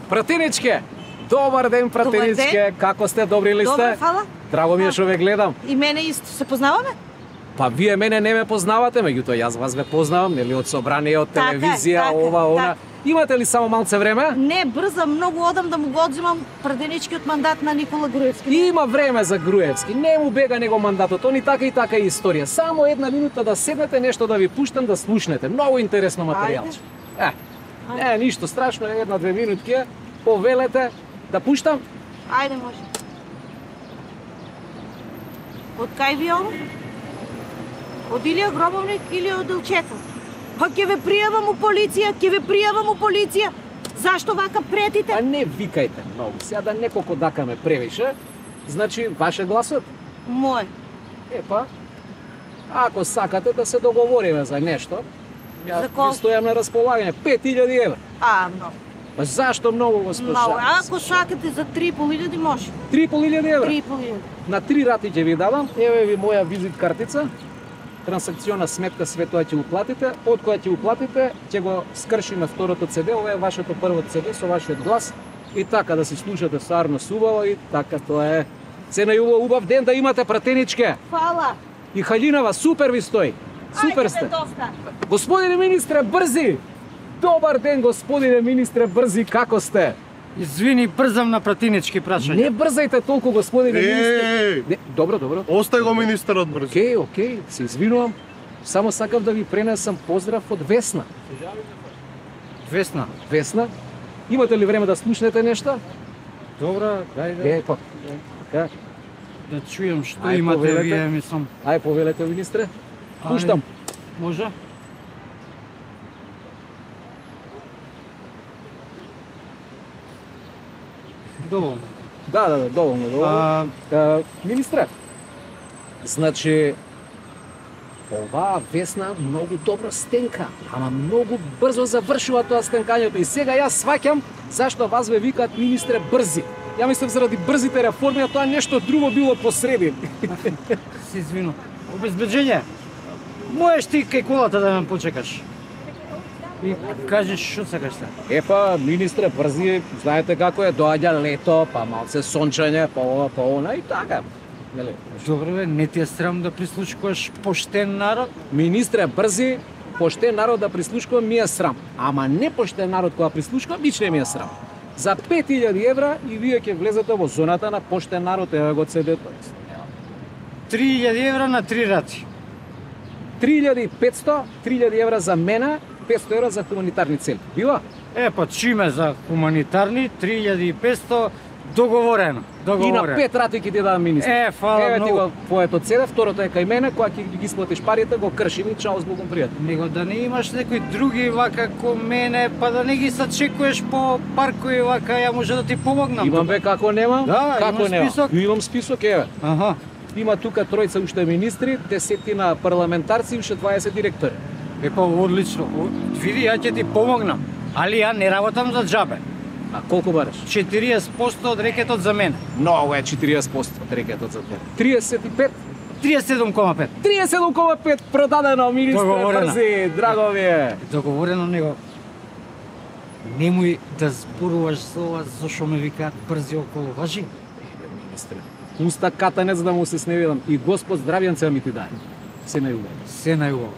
Пратеничке! Добар ден, пратеничке! Како сте, добри ли сте? Добре, фала. Драго ми е што ве гледам. И мене исто се познаваме? Па вие мене не ме познавате, меѓутоа јас вас ве познавам, нели од собрание, од телевизија, така, ова, она. така. Имате ли само малце време? Не, брза, многу одам да му го одзимам пратеничкиот мандат на Никола Груевски. Има време за Груевски, не му бега него мандатот, они така и така е историја. Само една минута да седнете, нешто да ви пуштам да слушнете. Многу интересно материјалче. Не, ништо страшно, една-две минутки, повелете да пуштам. Ајде, може. Од кај ви оно? Од Илија Гробовник или од Илчета? Па ќе ве пријавам у полиција, ќе ве пријавам у полиција. Зашто вака претите? А не викајте многу, сега да неколку дакаме превише. Значи, ваше гласот? Мој. Епа, ако сакате да се договориме за нешто, јас За колку? ви стојам на располагање, 5000 евра. Многу. Па зашто многу, госпожа? Многу. Ако сакате за 3500 може. 3500 евра. 3500. На 3 рати ќе ви дадам, еве ви моја визит картица, трансакциона сметка, све тоа ќе уплатите, од која ќе уплатите, ќе го скршиме второто CD, ова е вашето прво CD со вашиот глас, и така да се слушате со Арнос убаво, и така тоа е. Се најубав убав ден да имате, пратеничке. Фала. И Халинава, супер ви стои. Супер Ајде, сте. бе, доста. Господине министре, брзи! Добар ден, господине министре, брзи, како сте? Извини, брзам на пратенички прашања. Не брзајте толку, господине министре. Не, добро, добро. Остај го министерот брзо. Океј, се извинувам. Само сакав да ви пренесам поздрав од Весна. Весна. Весна, имате ли време да слушнете нешто? Добра, дај Па, така. да чујам што Ај, имате повелете. вие, мислам. Ај, повелете, министре. Пуштам. Може? Доволно. Да, доволно. Министре, значи, оваа Весна многу добро стенка, ама многу брзо завршува тоа стенкањето. И сега јас сваќам зашто вас ве викаат министре брзи. Ја мислам заради брзите реформи, а тоа нешто друго било посреди. Се извинувам. Обезбеđenje. Можеш ти кај колата да ме почекаш. И кажеш што сакаш сега. Епа, министре, брзи, знаете како е, доаѓа лето, па малце сончење, па ова, па она и така. Нели? Добре бе, не ти е срам да прислушкуваш поштен народ? Министре, брзи, поштен народ да прислушкувам ми е срам. Ама не поштен народ кога прислушкувам, бич не ми е срам. За 5000 евра и вие ќе влезете во зоната на поштен народ, ева го CD-то. 3000 евра на 3 рати. 3500, 3000 евра за мене, 500 евра за хуманитарни цели. Била? Па чиме за хуманитарни, 3500 договорено. И на 5 рати ќе ти дадам министр. Фала Еве ти многу. го твоето CD, второто е кај мене, кога ќе ги исплатиш парите, го кршим и чао, збогом пријатно. Него да не имаш некои други вака ко мене, па да не ги сачекуваш по паркови вака, ја може да ти помогнам. Имам бе како немам? Да, како имаш немам? список? Имам список, еве. Аха. Има тука тројца уште министри, 10 парламентарци и уште 20 директори. Па одлично. Види, ја ќе ти помогнам. Али ја не работам за џабе. А колку бараш? 40% од рекетот за мене. Многу е 40% од рекетот за тебе. 35? 37,5. 37,5 продадено, министре, Договорено. брзи, драго ми е. Договорено него. Немој да зборуваш за ова, зашо ме викаат брзи околу, важи? Министре, уста катанец да му се сневидам и Господ здравјанце ми ти даде. Се најубаво. Се најубаво.